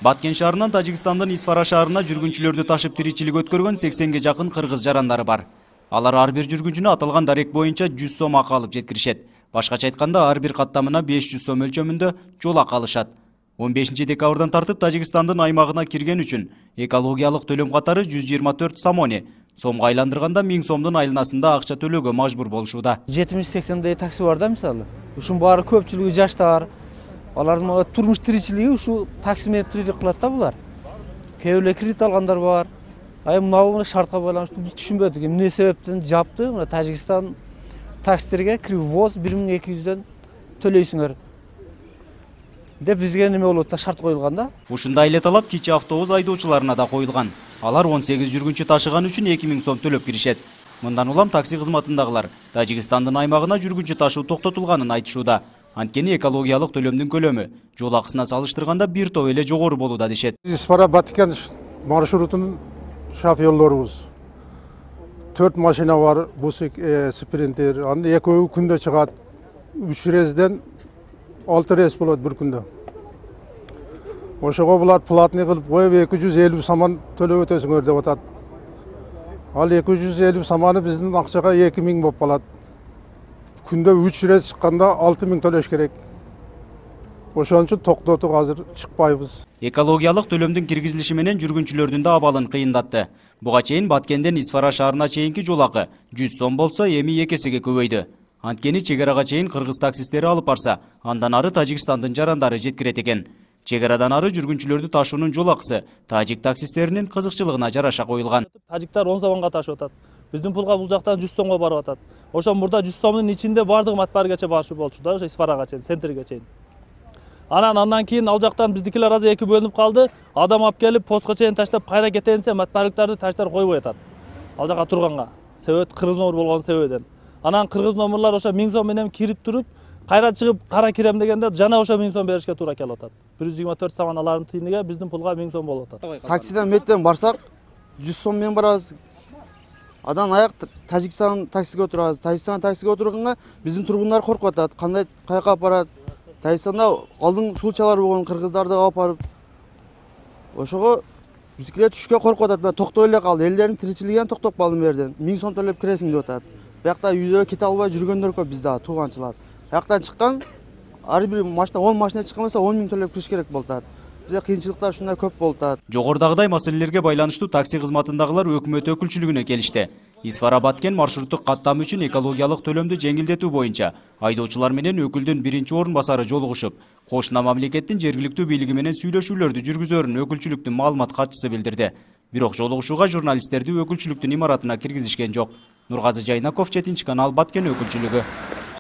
Баткен шаарынан Тажикстандын Исфара шаарына жүргүнчүлөрдү ташып тиричилик өткөргөн 80ге жакын кыргыз жарандары бар. Алар ар бир жүргүнчүнө аталган дарек боюнча 100 сом акы алып жеткиришет. Башкача айтканда, ар бир каттамына 500 сом өлчөмүндө жол акы алышат. 15 декабрдан тартып Тажикстандын аймагына кирген үчүн экологиялык төлөм катары 124 самони, сомго айландырганда 1000 сомдун айланасында акча төлөөгө мажбур болушууда. 70-80 такси бар да, мисалы. Ушун баары көпчүлүгү жаштар. Алардын турмуш тиричилиги ушу такси менен тиричилик кылат да булар. Кээ бирөө кредит алгандар бар. Мына шартка байланыштуу биз түшүнбөдүк. Эмне себептен жапты? Мына Тажикстан таксилерге ввоз 1200дөн төлөйсүңөр деп бизге неме болот да, шарт коюлган да. Ушундай эле талап кичи автобус айдоочуларына да коюлган. Алар 18 жүргүнчү ташыган үчүн 2000 сом төлөп киришет. Мындан улам такси кызматындагылар Тажикстандын аймагына жүргүнчү ташуу токтотулганын айтышууда. Анткени экологиялык төлөмдүн көлөмү жол акысына салыштырганда бир топ эле жогору болууда дешет. Исфара Баткен маршрутунун шофёрлорубуз 4 машина бар, бус спринтер. Аны экөө күндө чыгат. 3 резден 6 рейс болот бир күндө. Ошого булар платный кылып коюп 250 саман төлөп өтөсүңөр деп атат. Ал 250 саманы биздин акчага 2000 болуп калат. Күндө 3 рейс чыкканда 6000 төлөш керек. Ошон үчүн токтотуп азыр чыкпайбыз. Экологиялык төлөмдүн киргизилиши менен жүргүнчүлөрдүн да абалын кыйындатты. Буга чейин Баткенден Исфара шаарына чейинки жол акы 100 сом болсо, эми 2 эсеге көбөйдү. Анткени чегарага чейин кыргыз таксисттери алып барса, андан ары Тажикстандын жарандары жеткирет экен. Чегарадан ары жүргүнчүлөрдү ташуунун жол акысы тажик таксисттеринин кызыкчылыгына жараша коюлган. Тажиктар 10 сомго ташып атат. Биздин пулга бул жактан 100 сомго барып атат. Ошон мурда 100 сомдун ичинде бардыгы Матбаргача барышы болчу да, ошо Исфарага чейин, центрге чейин. Андан кийин ал жактан биздикилер азыр эки бөлүнүп калды. Адам алып келип постко чейин таштап кайра кетейин десе, Матбарлыктарды таштар койбой атат. Ал жака турганга. Себеп кыргыз номер болгон себебинен. Анан кыргыз номерлар ошо 1000 сом менен кирип туруп, кайра чыгып кара кирем дегенде жана ошо 1000 сом беришке туура келип атат. 124 саман алардын тыйыныгы биздин пулга 1000 сом болуп атат. Таксиден меттен барсак 100 сом менен барабыз. Адан аяк Тажикстан таксиге отурабыз. Тажикстан таксиге отурганга биздин тургундар коркуп атат. Кандай каяка алып барат? Тажикстанда алдын сулчалар болгон кыргыздарды алып барып. Ошого бизгилер түшкө коркуп атат. Токтой эле калды. Элдердин тиричилигин токтоп калды мерден. 1000 сом төлөп киресиң деп атат. Биякта үйдө кете албай жүргөндөр көп бизде, тууганчылар. Аяктан чыккан ар бир машина 10 машина чыккан болсо 10 000 төлөп кириш керек болот. Бизде кыйынчылыктар ушундай көп болот. Жогорудагыдай маселелерге байланыштуу такси кызматындагылар өкмөт өкүлчүлүгүнө келишти. Исфара Баткен маршруттук каттам үчүн экологиялык төлөмдү жеңилдетүү боюнча айдоочулар менен өкүлдүн биринчи орун басары жолугушуп, кошуна мамлекеттин жергиликтүү бийлиги менен сүйлөшүүлөрдү жүргүзөрүн өкүлчүлүктүн маалымат катчысы билдирди. Бирок жолугушууга журналисттерди өкүлчүлүктүн имаратына киргизишкен жок. Нургазы Жайнаков, 7 канал, Баткен өкүлчүлүгү.